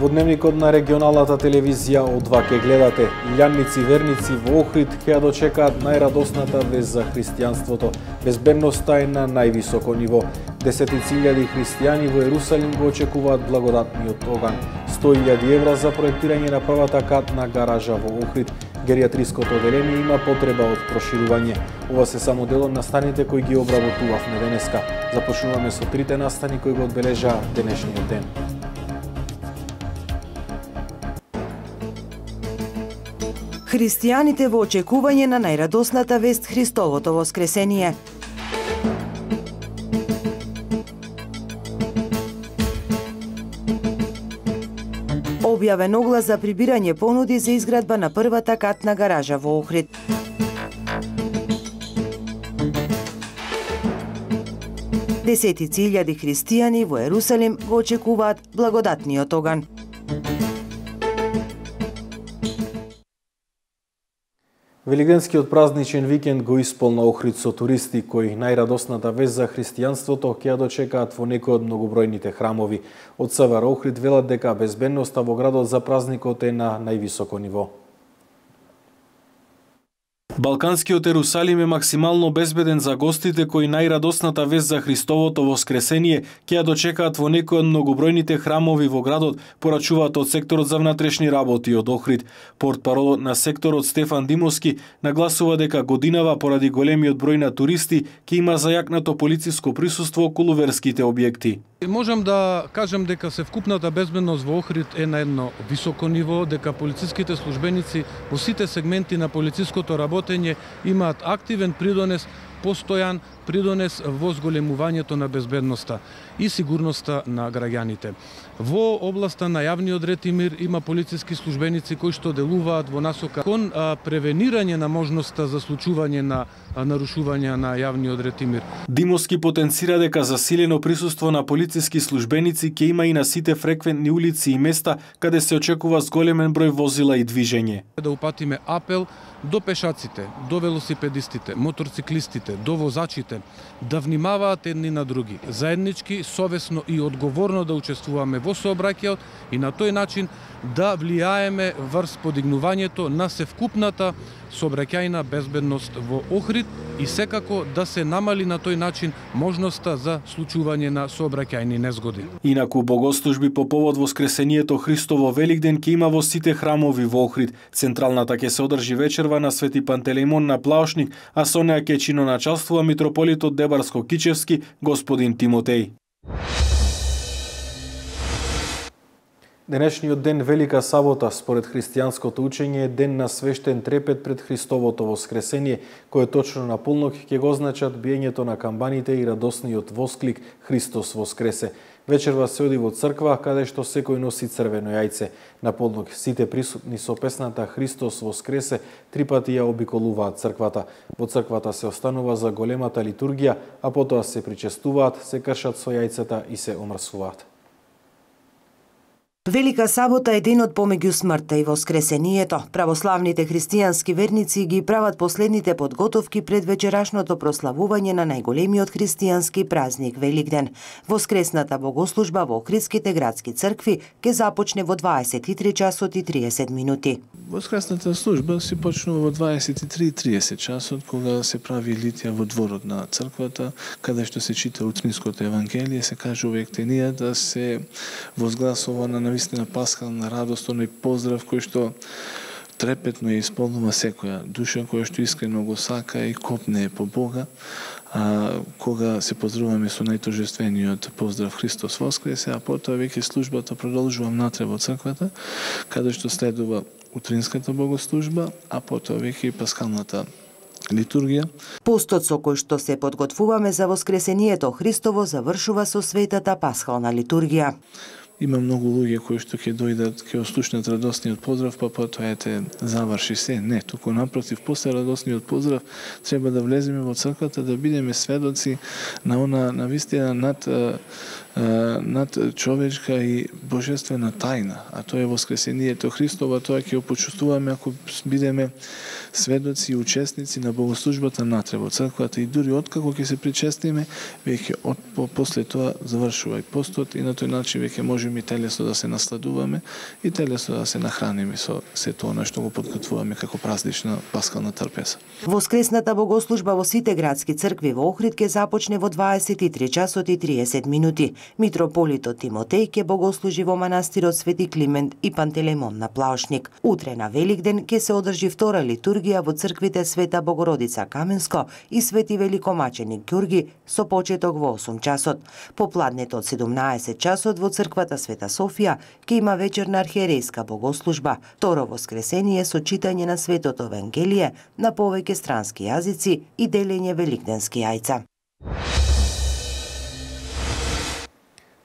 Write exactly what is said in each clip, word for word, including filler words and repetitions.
Во дневникот на регионалната телевизија од два ке гледате. Илјанници верници во Охрид ќе ја дочекаат најрадосната вест за христијанството. Безбедноста е на највисоко ниво. Десетици илјади христијани во Ерусалим го очекуваат благодатниот оган. сто илјади евра за проектирање на првата катна гаража во Охрид. Геријатриското оделение има потреба од проширување. Ова се само дел од настаните кои ги обработувавме денеска. Започнуваме со трите настани кои го одбележаа денешниот ден. Христијаните во очекување на најрадосната вест Христовото воскресение. Објавен оглас за прибирање понуди за изградба на првата катна гаража во Охрид. Десетици илјади христијани во Ерусалим го очекуваат благодатниот оган. Велигденскиот празничен викенд го исполна Охрид со туристи кои најрадосната вест за христијанството ќе ја дочекаат во некои од многобројните храмови. Од СВР Охрид велат дека безбедноста во градот за празникот е на највисоко ниво. Балканскиот Ерусалим е максимално безбеден за гостите кои најрадосната вест за Христовото воскресение ќе ја дочекаат во некои од многобројните храмови во градот, порачуваат од секторот за внатрешни работи од Охрид. Портпаролот на секторот Стефан Димовски нагласува дека годинава поради големиот број на туристи ќе има зајакнато полициско присуство околу верските објекти. Можам да кажам дека севкупната безбедност во Охрид е на едно високо ниво, дека полициските службеници во сите сегменти на полициското работење имаат активен придонес, постојан придонес во зголемувањето на безбедноста и сигурноста на граѓаните. Во областа на јавниот ред и мир има полициски службеници кои што делуваат во насока кон превенирање на можноста за случување на нарушување на јавниот ред и мир. Димовски потенцира дека засилено присуство на полициски службеници ќе има и на сите фреквентни улици и места каде се очекува зголемен број возила и движење. Да упатиме апел до пешаците, до велосипедистите, моторциклистите, до возачите да внимаваат едни на други, заеднички, совесно и одговорно да учествуваме во сообраќајот и на тој начин да влијаеме врз подигнувањето на севкупната сообраќајна безбедност во Охрид и секако да се намали на тој начин можноста за случување на сообраќајни незгоди. Инаку богослужби по повод воскресението Христово Великден ќе има во сите храмови во Охрид. Централната ќе се одржи вечерва на Свети Пантелеимон на Плаошник, а со неа ќе чиноначалствува митрополитот Дебарско-Кичевски господин Тимотеј. Денешниот ден Велика сабота, според христијанското учење, е ден на свештен трепет пред Христовото воскресение, кој точно на полнок ќе го означат биењето на камбаните и радосниот восклик Христос воскресе. Вечерва се оди во црква, каде што секој носи црвено јајце. На полнок сите присутни со песната Христос воскресе три пати ја обиколуваат црквата. Во црквата се останува за големата литургија, а потоа се причестуваат, се кршат со јајцата и се омрсуваат. Велика сабота е денот помеѓу смртта и воскресението. Православните христијански верници ги прават последните подготовки пред вечерашното прославување на најголемиот христијански празник Великден. Воскресната богослужба во Охридските градски цркви ќе започне во дваесет и три часот и триесет минути. Воскресната служба се почнува во дваесет и три и триесет часот, кога се прави литија во дворот на црквата, каде што се чита утниското евангелие, се кажува ектенија да се возгласува на навистина пасхална радост, оној поздрав кој што трепетно ја исполнува секоја душа која што искрено го сака и копне по Бога. А, кога се поздравуваме со најторжествениот поздрав Христос воскресе, а потоа веќе службата продолжува внатре во црквата, каде што следува утринската богослужба, а потоа веќе и пасхалната литургија. Постот со кој што се подготвуваме за воскресението Христово завршува со светата пасхална литургија. Има многу луѓе кои што ќе дојдат, ќе ослушнат радосниот поздрав, па потоа ете заврши се. Не, туку напротив, после радосниот поздрав треба да влеземе во црквата, да бидеме сведоци на она навистина над над човечка и божествена тајна, а тоа е воскресението Христово. Тоа ќе почувствуваме ако бидеме сведоци и учесници на богослужбата натре во црквата, и дури откако ќе се причестиме, веќе од по, после тоа завршува и постот, и на тој начин веќе можеме и телесно да се насладуваме и телесно да се нахраниме со се тоа на што го подготвуваме како празнична паскална трпеза. Воскресната богослужба во сите градски цркви во Охрид ќе започне во дваесет и три часот и триесет минути. Митрополитот Тимотеј ќе богослужи во манастирот Свети Климент и Пантелеймон на Плаушник. Утре на Великден ќе се одржи втора литургија во црквите Света Богородица Каменско и Свети Великомаченик Ѓурги со почеток во осум часот. Попладнето од седумнаесет часот во црквата Света Софија ќе има вечерна архиерејска богослужба. Второ воскресение со читање на Светото Евангелие на повеќе странски јазици и делење великденски јајца.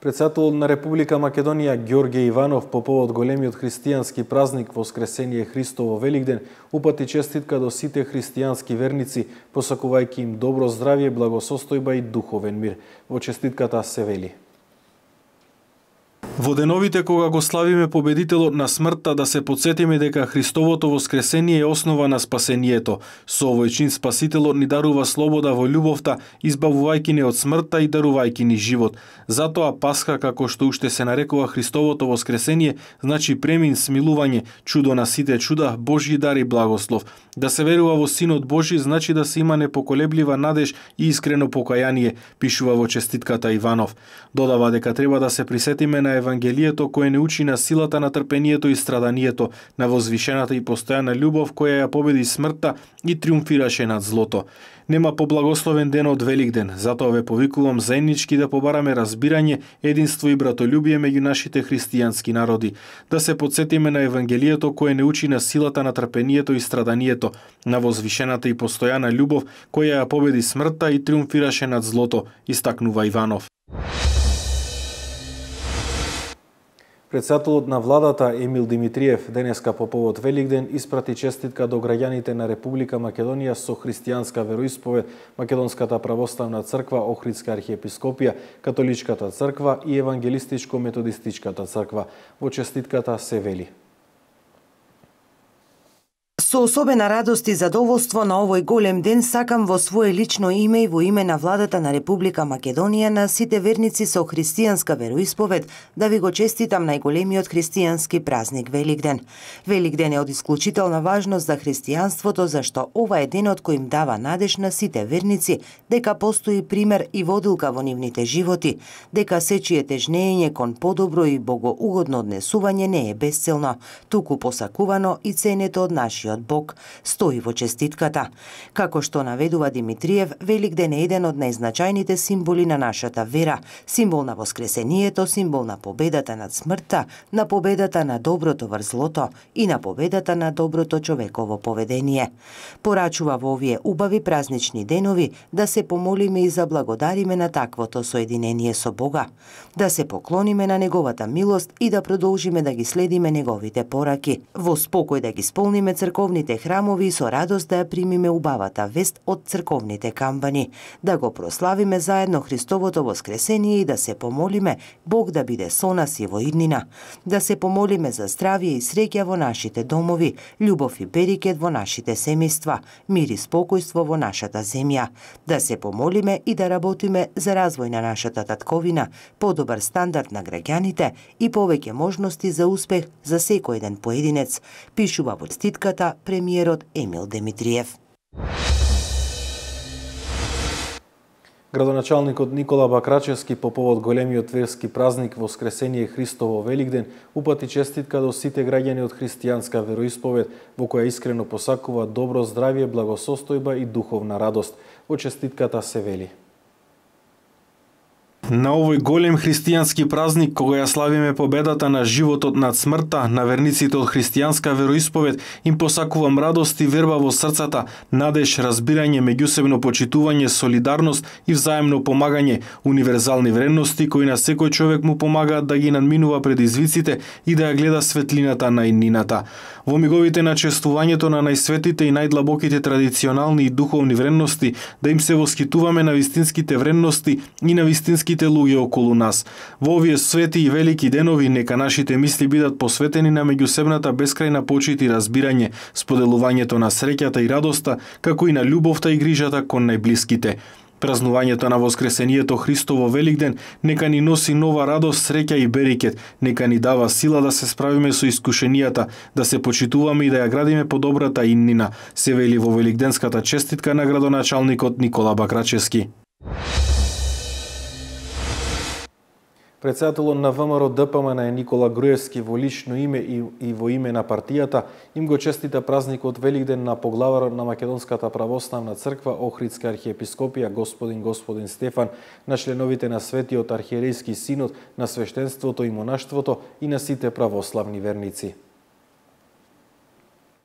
Претседателот на Република Македонија Ѓорѓе Иванов по повод големиот христијански празник Воскресение Христово Великден упати честитка до сите христијански верници, посакувајќи им добро здравје, благосостојба и духовен мир. Во честитката се вели: во деновите кога го славиме победителот на смртта, да се подсетиме дека Христовото воскресение е основа на спасението. Со овој чин Спасителот ни дарува слобода во љубовта, избавувајќи ни од смртта и дарувајќи ни живот. Затоа Пасха, како што уште се нарекува Христовото воскресение, значи премин, смилување, чудо на сите чуда, Божји дар и благослов. Да се верува во Синот Божји значи да се има непоколеблива надеж и искрено покаяние, пишува во честитката Иванов. Додава дека треба да се присетиме на Евангелието кое не учи на силата на трпението и страданието, на возвишената и постојана љубов која ја победи смртта и триумфираше над злото. Нема поблагословен ден од Великден, затоа ве повикувам заеднички да побараме разбирање, единство и братолюбие меѓу нашите христијански народи. Да се подсетиме на Евангелието кое не учи на силата на трпението и страданието, на возвишената и постојана љубов која ја победи смртта и триумфираше над злото, истакнува Иванов. Претседателот на владата Емил Димитриев денеска по повод Великден испрати честитка до граѓаните на Република Македонија со христијанска вероисповед, Македонската православна црква, Охридска архиепископија, Католичката црква и Евангелистичко-методистичката црква. Во честитката се вели: со особена радост и задоволство на овој голем ден сакам во свое лично име и во име на владата на Република Македонија на сите верници со христијанска вероисповед да ви го честитам најголемиот христијански празник Великден. Великден е од исклучителна важност за христијанството, зашто ова е денот кој им дава надеж на сите верници дека постои пример и водилка во нивните животи, дека сечие тежнење кон подобро и богоугодно однесување не е бесцелно, туку посакувано и ценето од нашиот Бог, стои во честитката. Како што наведува Димитриев, Великден е еден од најзначајните символи на нашата вера, символ на воскресението, символ на победата над смртта, на победата на доброто врз злото и на победата на доброто човеково поведение. Порачува во овие убави празнични денови да се помолиме и заблагодариме на таквото соединение со Бога, да се поклониме на неговата милост и да продолжиме да ги следиме неговите пораки, во спокој да ги исполниме црковните храмови и со радост да ја примиме убавата вест од црковните камбани, да го прославиме заедно Христовото воскресение и да се помолиме Бог да биде со нас и во иднина, да се помолиме за здравје и среќа во нашите домови, љубов и берикет во нашите семејства, мир и спокојство во нашата земја, да се помолиме и да работиме за развој на нашата татковина, подобар стандард на граѓаните и повеќе можности за успех за секој еден поединец, пишува во честитката премиерот Емил Димитриев. Градоначалникот Никола Бакрачевски по повод големиот верски празник Воскресение Христово Великден упати честитка до сите граѓани од христијанска вероисповед, во која искрено посакува добро здравје, благосостојба и духовна радост. Во честитката се вели: на овој голем христијански празник, кога ја славиме победата на животот над смртта, на верниците од христијанска вероисповед им посакувам радост и верба во срцата, надеж, разбирање, меѓусебно почитување, солидарност и взаемно помагање, универзални вредности кои на секој човек му помагаат да ги надминува предизвиците и да ја гледа светлината на иднината. Во миговите на чествувањето на најсветите и најдлабоките традиционални и духовни вредности, да им се воскитуваме на вистинските вредности и на вистинските сите луѓе околу нас. Во овие свети и велики денови нека нашите мисли бидат посветени на меѓусебната бескрајна почит и разбирање, споделувањето на среќата и радоста, како и на љубовта и грижата кон најблиските. Празнувањето на Воскресението Христово Великден нека ни носи нова радост, среќа и берекет, нека ни дава сила да се справиме со искушенијата, да се почитуваме и да ја градиме по добрата иднина, се вели во великденската честитка на градоначалникот Никола Бакрачевски. Председателот на ВМРО Д П М Н Никола Груевски во лично име и, и во име на партијата им го честита празникот Великден на поглаварот на Македонската православна црква Охридска архиепископија господин господин Стефан, на членовите на Светиот архиерејски синод, на свештенството и монаштвото и на сите православни верници.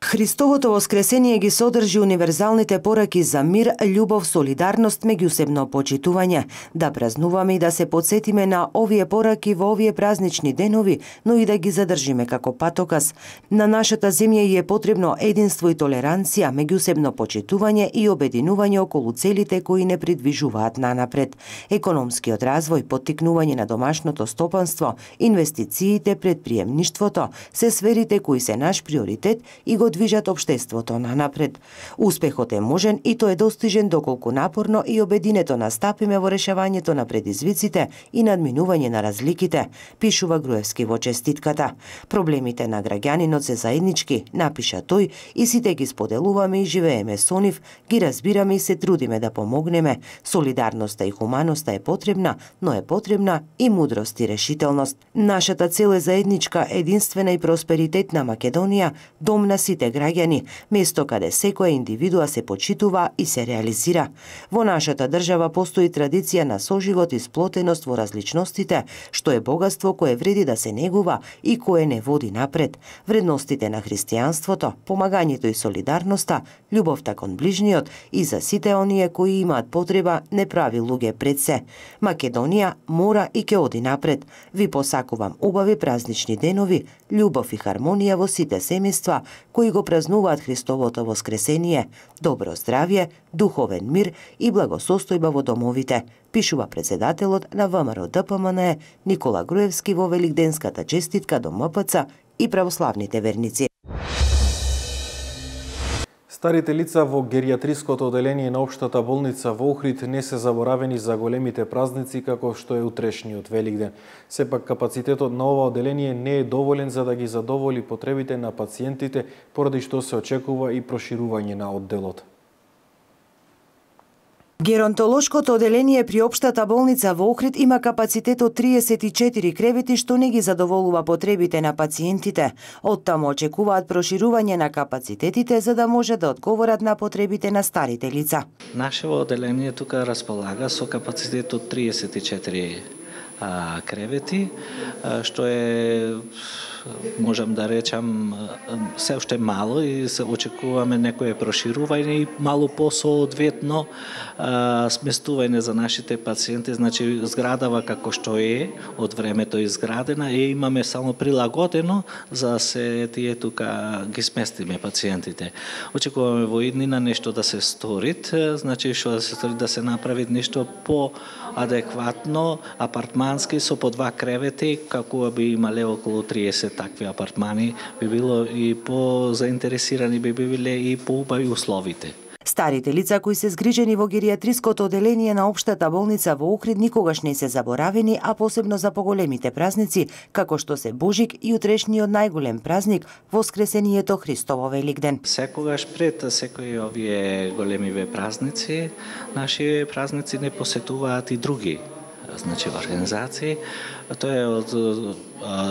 Христовото воскресение ги содржи универзалните пораки за мир, љубов, солидарност, меѓусебно почитување. Да празнуваме и да се потсетиме на овие пораки во овие празнични денови, но и да ги задржиме како патоказ. На нашата земја е потребно единство и толеранција, меѓусебно почитување и обединување околу целите кои не придвижуваат нанапред. Економскиот развој, поттикнување на домашното стопанство, инвестициите, предприемништвото, се сферите кои се наш приоритет и го движат општеството нанапред. Успехот е можен и тој е достижен доколку напорно и обединето настапиме во решавањето на предизвиците и надминување на разликите, пишува Груевски во честитката. Проблемите на граѓанинот се заеднички, напиша тој, и сите ги споделуваме и живееме со нив, ги разбираме и се трудиме да помогнеме. Солидарноста и хуманоста е потребна, но е потребна и мудрост и решителност. Нашата цел е заедничка, единствена и просперитетна Македонија, дом на сите граѓани, место каде секоја индивидуа се почитува и се реализира. Во нашата држава постои традиција на соживот и сплотеност во различностите, што е богатство кое вреди да се негува и кое не води напред. Вредностите на христијанството, помагањето и солидарноста, љубовта кон ближниот и за сите оние кои имаат потреба не прави луѓе пред се. Македонија мора и ќе оди напред. Ви посакувам убави празнични денови, љубов и хармонија во сите семејства кои го празнуваат Христовото воскресение, добро здравје, духовен мир и благосостојба во домовите, пишува председателот на ВМРО Д П М Н Никола Груевски во великденската честитка до М П Ц и православните верници. Старите лица во геријатриското оделение на Општата болница во Охрид не се заборавени за големите празници како што е утрешниот Великден. Сепак капацитетот на ова оделение не е доволен за да ги задоволи потребите на пациентите, поради што се очекува и проширување на одделот. Геронтолошкото оделение при Општата болница во Охрид има капацитет од триесет и четири кревети, што не ги задоволува потребите на пациентите. Оттаму очекуваат проширување на капацитетите за да може да одговорат на потребите на старите лица. Нашето оделение тука располага со капацитет од триесет и четири а, кревети, а, што е, можам да речам, се уште мало и се очекуваме некое проширување и мало посоодветно сместување за нашите пациенти. Значи, зградава како што е, од времето изградена, и имаме само прилагодено за се тие тука ги сместиме пациентите. Очекуваме во иднина нешто да се сторит, значи што да се стори, да се направи нешто по адекватно, апартмански, со по два кревети, како би имале околу триесет такви апартмани, би било и по заинтересирани, би биле и по убави условите. Старите лица кои се згрижени во геријатриското оделение на Општата болница во Охрид никогаш не се заборавени, а посебно за поголемите празници, како што се Божик и утрешниот најголем празник, Воскресението Христово Великден. Секогаш пред секои овие големи празници, наши празници не посетуваат и други, значи организации. Тоа е од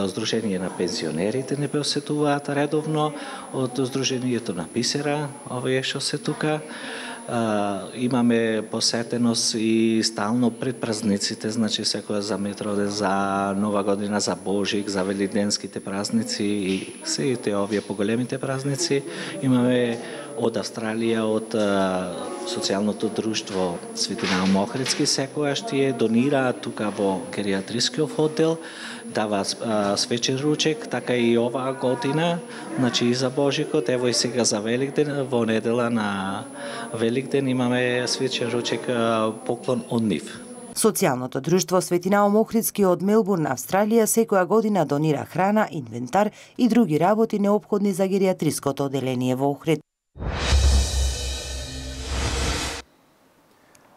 Сдружение на пензионерите не посетуваат редовно, од Сдруженијето на Бисера, овие што се тука. Имаме посетеност и стално пред празниците, значи секоја за Метроден, за Нова година, за Божик, за великденските празници и сите овие поголемите празници. Имаме од Австралија, од социјалното друштво Свети Наум Охридски, секојаш тие донираат тука во геријатрискиот оддел, даваат свечен ручек, така и оваа година, значи и за Божикот, ево и сега за Великден, во недела на Великден имаме свечен ручек поклон од нив. Социјалното друштво Свети Наум Охридски од Мелбурн, Австралија, секоја година донира храна, инвентар и други работи неопходни за гериатриското оделение во Охрид.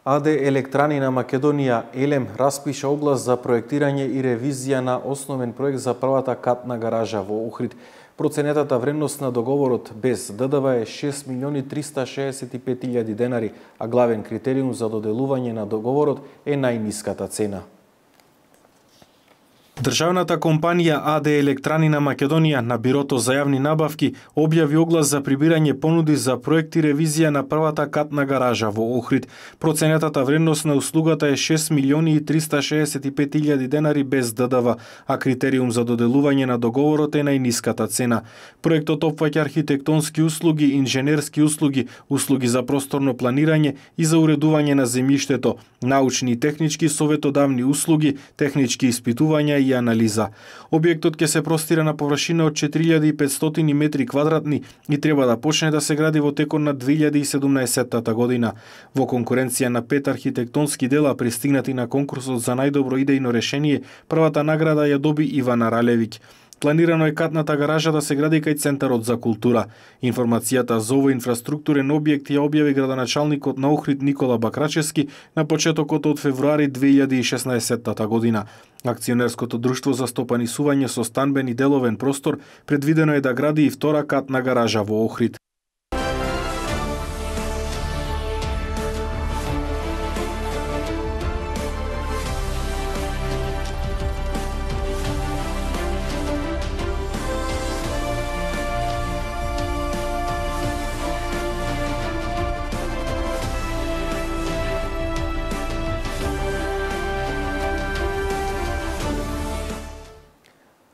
АД Електрани на Македонија Елем распиша оглас за проектирање и ревизија на основен проект за првата катна гаража во Охрид. Проценетата вредност на договорот без ДДВ е шест милиони триста шеесет и пет илјади денари, а главен критериум за доделување на договорот е најниската цена. Државната компанија АД Електрани на Македонија на Бирото за јавни набавки објави оглас за прибирање понуди за проект и ревизија на првата катна гаража во Охрид. Проценетата вредност на услугата е шест милиони и триста шеесет и пет илјади денари без ДДВ, а критериум за доделување на договорот е најниската цена. Проектот опфаќа архитектонски услуги, инженерски услуги, услуги за просторно планирање и за уредување на земјиштето, научни и технички советодавни услуги, технички испитувања и анализа. Објектот ќе се простира на површина од четири илјади и петстотини метри квадратни и треба да почне да се гради во текот на две илјади и седумнаесетта година. Во конкуренција на пет архитектонски дела пристигнати на конкурсот за најдобро идејно решение, првата награда ја доби Ивана Ралевиќ. Планирано е катната гаража да се гради кај Центарот за култура. Информацијата за овој инфраструктурен објект ја објави градоначалникот на Охрид Никола Бакрачевски на почетокот од февруари две илјади и шеснаесетта година. Акционерското друштво за стопанисување со станбен и деловен простор предвидено е да гради и втора катна гаража во Охрид.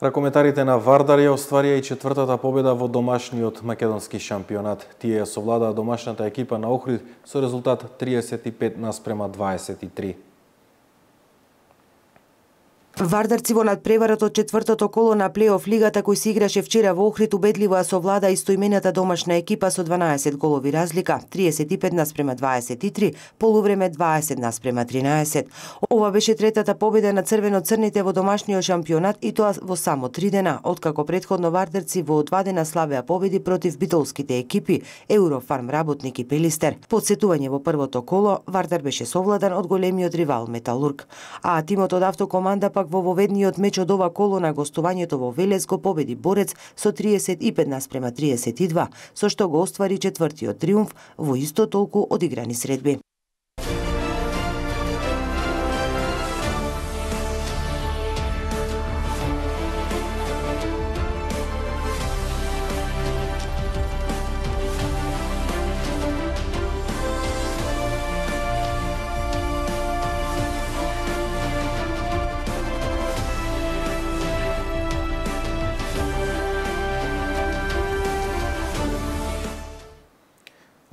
Ракометарите на Вардар ја остварија и четвртата победа во домашниот македонски шампионат. Тие ја совладаа домашната екипа на Охрид со резултат триесет и пет наспрема дваесет и три. Вардарци во надпреварот од четвртото коло на плейоф лигата кој се играше вчера во Охрид убедливо ја совлада истоимената домашна екипа со дванаесет голови разлика, триесет и пет наспрема дваесет и три, полувреме дваесет наспрема тринаесет. Ова беше третата победа на црвено-црните во домашниот шампионат и тоа во само три дена, откако претходно вардарци во два дена славеа победи против битолските екипи Еврофарм Работник и Пелистер. Подсетување во првото коло, Вардар беше совладан од големиот ривал Металург, а тимот од Автокоманда пак во воведниот меч од ова коло на гостувањето во Велес го победи Борец со триесет и пет наспрема триесет и два, со што го оствари четвртиот триумф во исто толку одиграни средби.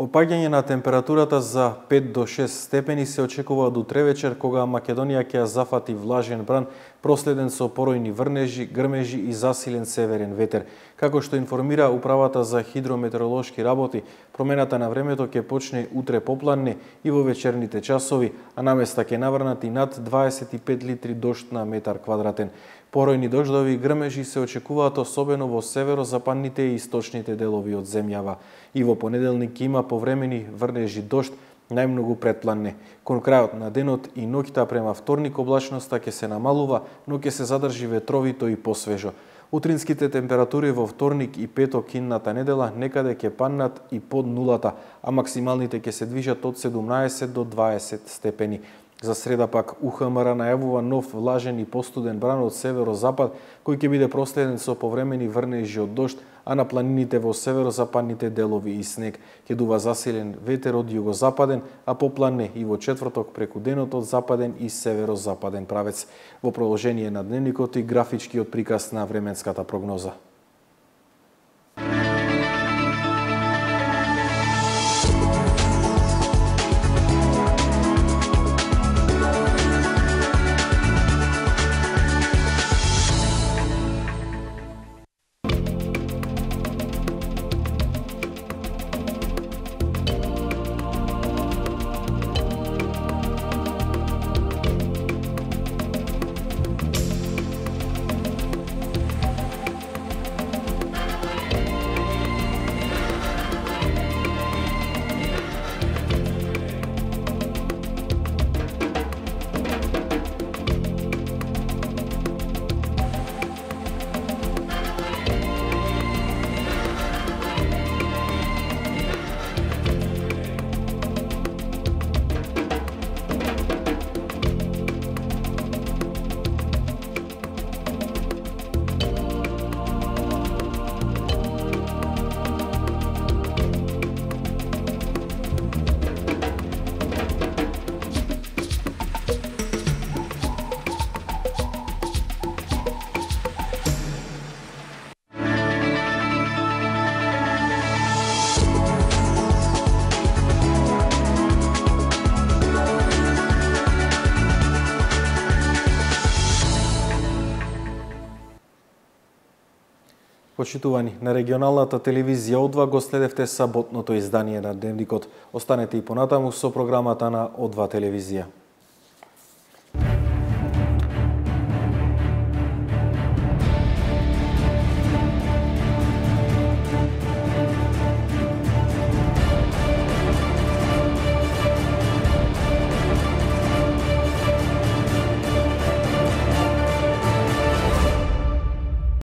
Опаѓање на температурата за пет до шест степени се очекува до утре вечер, кога Македонија ќе ја зафати влажен бран, проследен со поројни врнежи, грмежи и засилен северен ветер. Како што информира Управата за хидрометеоролошки работи, промената на времето ќе почне утре попладне и во вечерните часови, а наместа ќе наврнат и над дваесет и пет литри дожд на метар квадратен. Поројни дождови и грмежи се очекуваат особено во северозападните и источните делови од земјава. И во понеделник има повремени врнежи дожд, најмногу предпланне. Кон крајот на денот и ноќта према вторник облачноста ќе се намалува, но ќе се задржи ветровито и посвежо. Утринските температури во вторник и петок идната недела некаде ќе паднат и под нулата, а максималните ќе се движат од седумнаесет до дваесет степени. За среда пак УХМР најавува нов влажен и постуден бран од северозапад, кој ќе биде проследен со повремени врнежи од дожд, а на планините во северозападните делови и снег. Ќе дува засилен ветер од југозападен, а попладне и во четврток преку денот од западен и северозападен правец. Во продолжение на дневникот и графичкиот приказ на временската прогноза. Почитувани, на регионалната телевизија О два го следевте саботното издание на Дневникот. Останете и понатаму со програмата на О два телевизија.